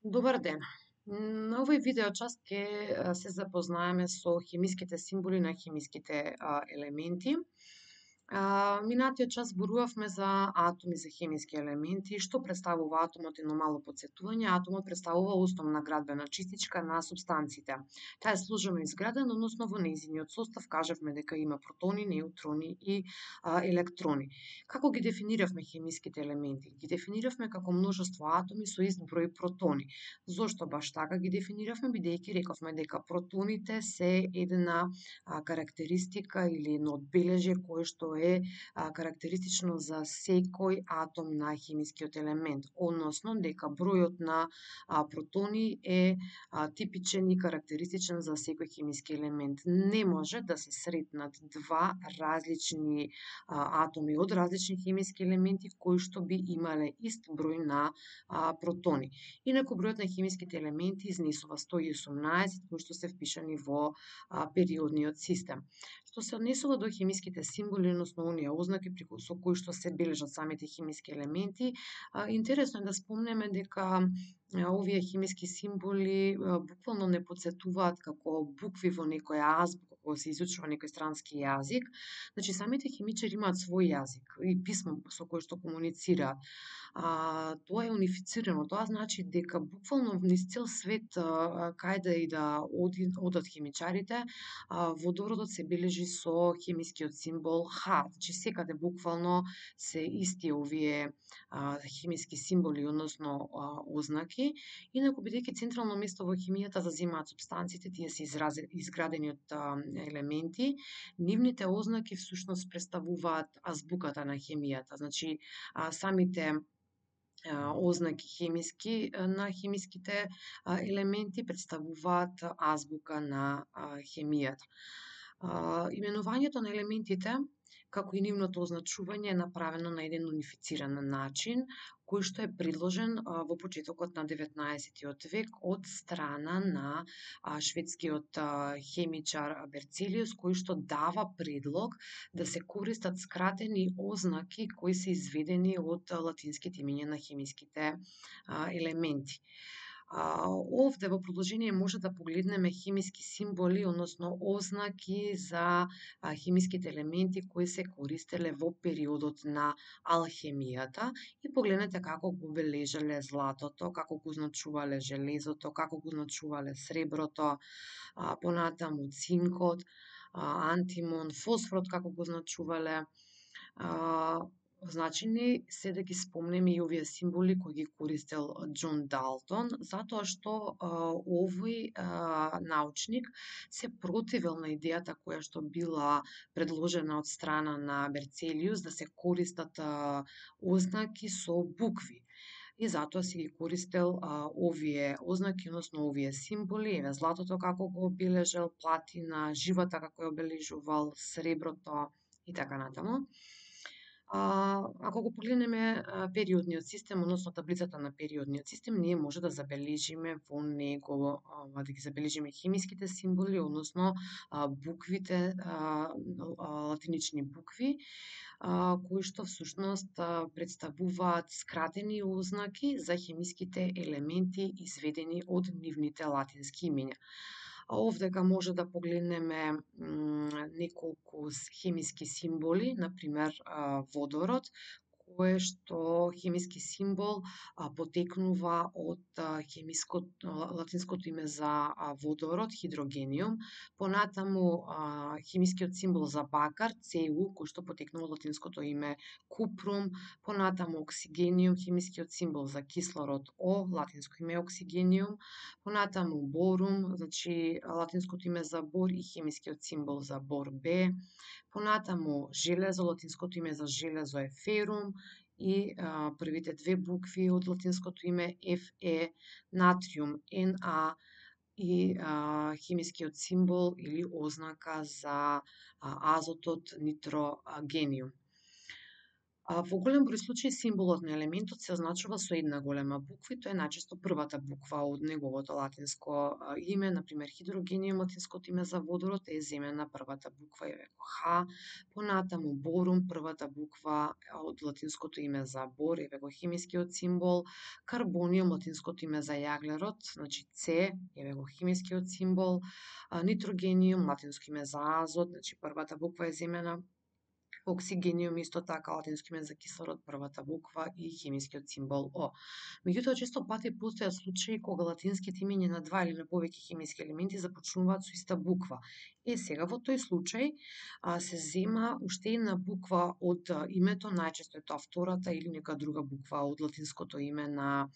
Добар ден. На овој видеочас ќе се запознаеме со хемиските символи на хемиските елементи. Минатиот час зборувавме за атоми, за хемиски елементи, што представува атомот, едно мало потсетување. Атомот представува основна градбена чистичка на супстанците. Таа е сложено изградена, односно во нејзиниот состав кажавме дека има протони, неутрони и електрони. Како ги дефиниравме хемиските елементи? Ги дефиниравме како множество атоми со ист број протони. Зошто баш така ги дефиниравме? Бидејќи рековме дека протоните се една карактеристика или едно одбележје кое што е карактеристично за секој атом на хемискиот елемент, односно дека бројот на протони е типичен и карактеристичен за секој хемиски елемент. Не може да се сретнат два различни атоми од различни хемиски елементи кои што би имале ист број на протони. Инаку бројот на хемиските елементи изнесува 118 кои што се впишани во периодниот систем. Што се однесува до хемиските символи, односно оние ознаки со кои што се бележат самите хемиски елементи, интересно е да спомнеме дека овие хемиски символи буквално не потсетуваат како букви во некоја азбука кога се изучува некој странски јазик. Значи, самите хемичари имаат свој јазик и писмо со кое што комуницираат. Тоа е унифицирано. Тоа значи дека буквално низ цел свет каде и да одат хемичарите, водородот се бележи со хемискиот символ Х. Значи секаде буквално се исти овие хемиски символи, односно ознаки. Инаку бидејќи централно место во хемијата заземаат супстанциите, тие се изградени од елементи, нивните ознаки всушност представуваат азбуката на хемијата. Значи самите ознаки хемиски на хемиските елементи представуваат азбука на хемијата. Именувањето на елементите, како и нивното означување, е направено на еден унифициран начин, кој што е предложен во почетокот на 19 век од страна на шведскиот хемичар Берцелиус, кој што дава предлог да се користат скратени ознаки кои се изведени од латинските имиња на хемиските елементи. Овде во продолжение може да погледнеме хемиски символи, односно ознаки за хемиските елементи кои се користеле во периодот на алхемијата и погледнете како го бележеле златото, како го означувале железото, како го означувале среброто, понатаму цинкот, антимон, фосфорот како го означувале. Значени се да ги спомнеме и овие символи кои ги користел Џон Далтон, затоа што овој научник се противел на идејата која што била предложена од страна на Берцелиус да се користат ознаки со букви. И затоа си ги користел овие ознаки, односно овие символи, еве златото како го обележал, платина, живата како ја обележувал, среброто и така натаму. Ако го погледнеме периодниот систем, односно таблицата на периодниот систем, ние може да забележиме во него, да ги забележиме хемиските символи, односно буквите, латинични букви, кои што всушност представуваат скратени ознаки за хемиските елементи изведени од нивните латински имиња. Овдека може да погледнеме неколку хемиски символи, например водород, кое што хемиски символ потекнува од латинското име за водород, хидрогениум, понатаму хемискиот символ за бакар, Cu, кој што потекнува од латинското име купрум, понатаму оксигениум, хемискиот символ за кислород, О, латинско име оксигениум, понатаму борум, значи латинското име за бор и хемискиот символ за бор, Б, понатаму железо, латинското име за железо е ферум и првите две букви од латинското име Fe, натриум, Na и хемискиот символ или ознака за азотот, нитрогениум. Во голем број случаи символот на елементот се означува со една голема буква и тоа е најчесто првата буква од неговото латинско име, например хидрогениум, латинското име за водород е земена првата буква е Х, понатаму борум, првата буква од латинското име за бор е химискиот символ, карбониум, латинското име за јаглерод, значи С е химискиот символ, нитрогениум, латинско име за азот, значи првата буква е земена, оксигениум исто така латинско име за кислород, првата буква и химискиот символ О. Меѓутоа, често пати постојат случаи кога латинските имиња на два или на повеќе химиски елементи започнуваат со иста буква. Сега во тој случај се зема уште една буква од името, најчесто е тоа втората или нека друга буква од латинското име на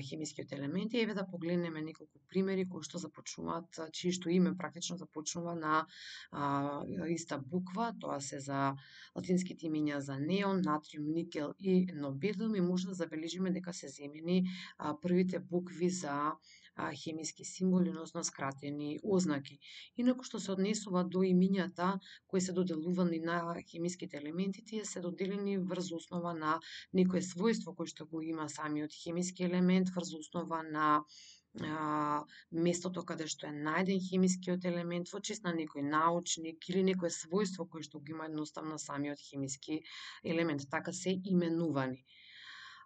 химискиот елемент. Еве да погледнеме неколку примери кои што започнуваат, чието име практично започнува на иста буква. Тоа се за латинските имиња за неон, натриум, никел и нобелиум и може да забележиме дека се земени првите букви за хемиски символи, односно скратени ознаки. Инаку што се однесува до имињата кои се доделувани на хемиските елементи, тие се доделени врз основа на некое својство кој што го има самиот хемиски елемент, врз основа на местото каде што е најден хемискиот елемент, во чест на некој научник или некое својство кој што го има едноставно самиот хемиски елемент, така се именувани.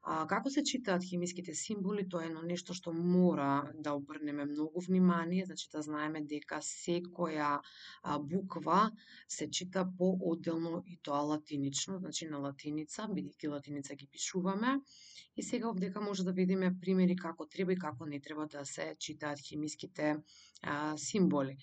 Како се читаат хемиските символи, тоа е едно нешто што мора да обрнеме многу внимание, значи да знаеме дека секоја буква се чита по-одделно и тоа латинично, значи на латиница, бидејќи латиница ги пишуваме. И сега овдека може да видиме примери како треба и како не треба да се читаат хемиските символи.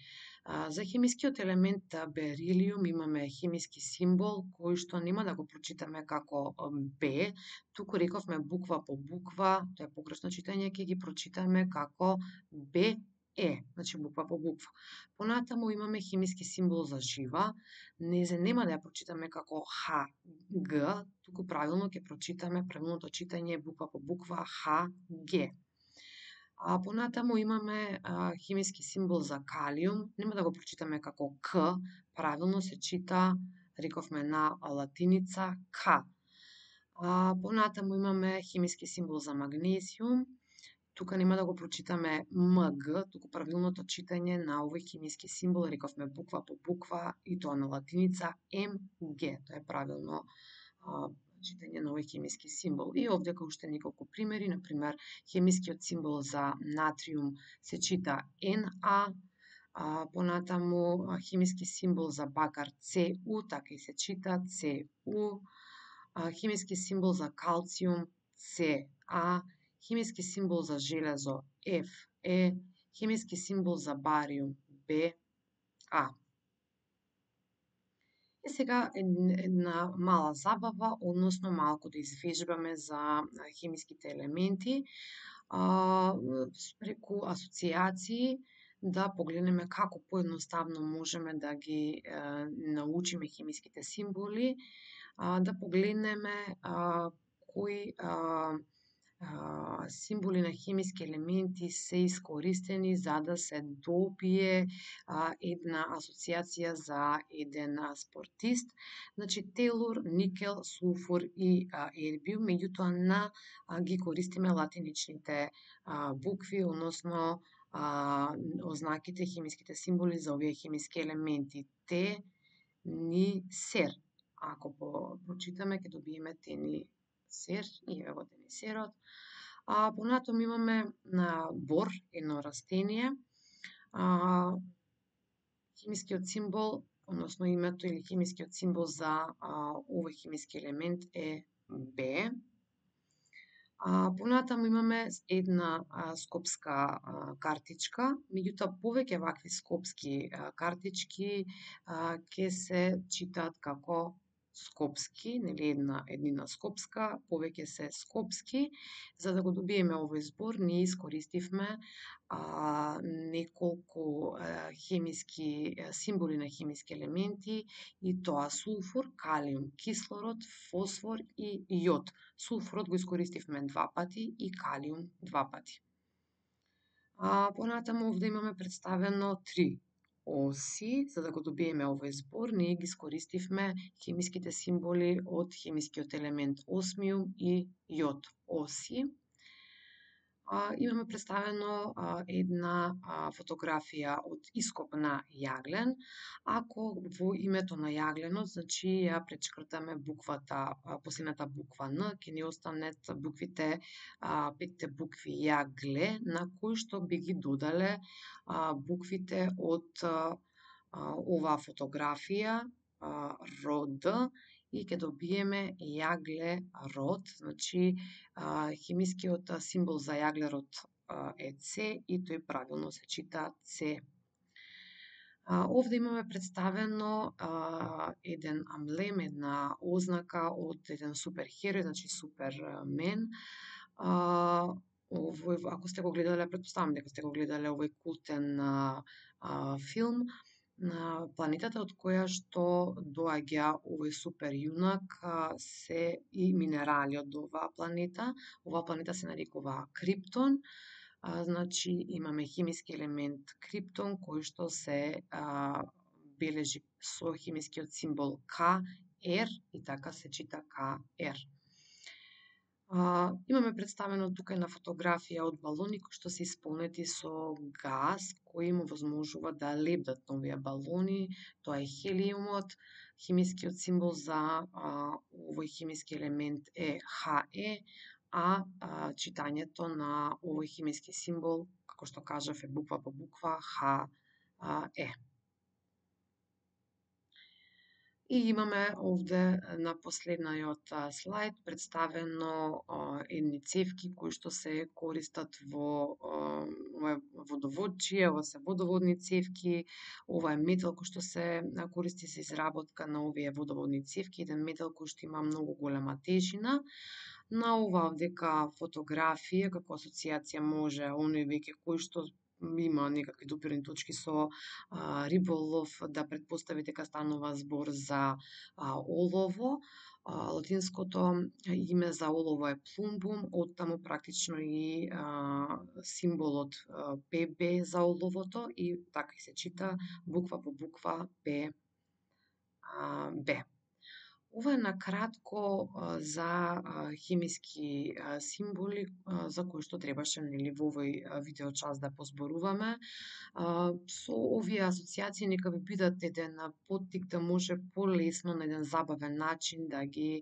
За хемискиот елемент берилиум имаме хемиски символ кој што нема да го прочитаме како Б, туку рековме буква по буква, тоа е погрешно читање, ќе ги прочитаме како Б Е, значи буква по буква. Понатаму имаме хемиски символ за жива, нема да ја прочитаме како Х, Г, туку правилно ќе прочитаме, правилното читање е буква по буква Х, Г. Понатаму имаме хемиски символ за калиум, нема да го прочитаме како К, правилно се чита, рековме на латиница К. Понатаму имаме хемиски символ за магнезиум, тука нема да го прочитаме МГ, туку правилното читање на овој хемиски символ, рековме буква по буква и тоа на латиница МГ, тоа е правилно читање на овој хемиски символ. И овдека уште неколку примери, например, хемискиот символ за натриум се чита На, понатаму хемиски символ за бакар Cu, така и се чита Cu, хемиски символ за калциум Ca, хемиски символ за железо Fe, хемиски символ за бариум Ba. Сега една мала забава, односно малку да извежбаме за хемиските елементи, преку асоцијации, да погледнеме како поедноставно можеме да ги научиме хемиските символи, да погледнеме кои символи на хемиски елементи се искористени за да се добие една асоциација за еден спортист. Значи, телур, никел, сулфур и ербиум, меѓутоа ги користиме латиничните букви, односно ознаките, хемиските символи за овие хемиски елементи. Те, ни, сер. Ако прочитаме, ќе добиеме тени сер и ево тенисерот. Понатаму имаме бор, едно растение. Хемискиот символ, односно името или хемискиот символ за овој хемиски елемент е Б. Понатаму имаме една скопска картичка, меѓутоа повеќе вакви скопски картички ќе се читаат како скопски, нели еднина скопска, повеќе се скопски. За да го добиеме овој збор, ние искористивме неколку хемиски символи на хемиски елементи и тоа сулфур, калиум, кислород, фосфор и јод. Сулфурот го искористивме 2 пати и калиум 2 пати. Понатаму овде имаме представено 3 оси. За да го добиеме овој збор, ние ги искористивме хемиските символи од хемискиот елемент осмиум и јод. Оси. Имаме представено една фотографија од ископ на јаглен. Ако во името на јагленот, значи ја пречкртаме буквата, последната буква Н, ќе ни останат буквите, 5 букви јагле, на кои што би ги додале буквите од оваа фотографија, род, и ќе добиеме јагле род, значи хемискиот символ за јаглерод е С и тој правилно се чита С. Овде имаме представено еден амблем, една ознака од еден суперхерој, значи Супермен. Овој, ако сте го гледале, претпоставам дека сте го гледале овој култен филм, планетата од која што доаѓа овој супер јунак се и минерали од оваа планета. Оваа планета се нарекува Криптон. Значи имаме хемиски елемент Криптон кој што се бележи со хемискиот символ Кр и така се чита Кр. Имаме представено тука една фотографија од балони кои што се исполнети со газ, кои му возможува да лебдат на овие балони. Тоа е хелиумот. Хемискиот символ за овој хемиски елемент е He, читањето на овој хемиски символ, како што кажав, е буква по буква He. И имаме овде на последниот слайд представено едни цевки кои што се користат во водоводчие, ова се водоводни цевки, ова е метал кој што се користи за изработка на овие водоводни цевки, еден метал кој што има многу голема тежина. На ова овдека фотографија, како асоциација може оној веќе кој што има некакви допирни точки со риболов да претпостави дека станува збор за олово. Латинското име за олово е плумбум, оттаму практично и символот ПБ за оловото и така и се чита буква по буква Б. Ова е накратко за хемиски символи за кои што требаше во овој видеочас да позборуваме. Со овие асоциации нека ви бидат еден поттик да може полесно на еден забавен начин да ги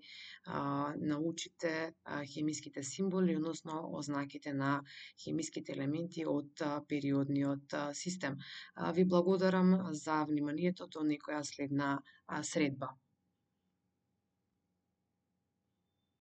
научите хемиските символи, односно ознаките на хемиските елементи од периодниот систем. Ви благодарам за вниманието до некоја следна средба.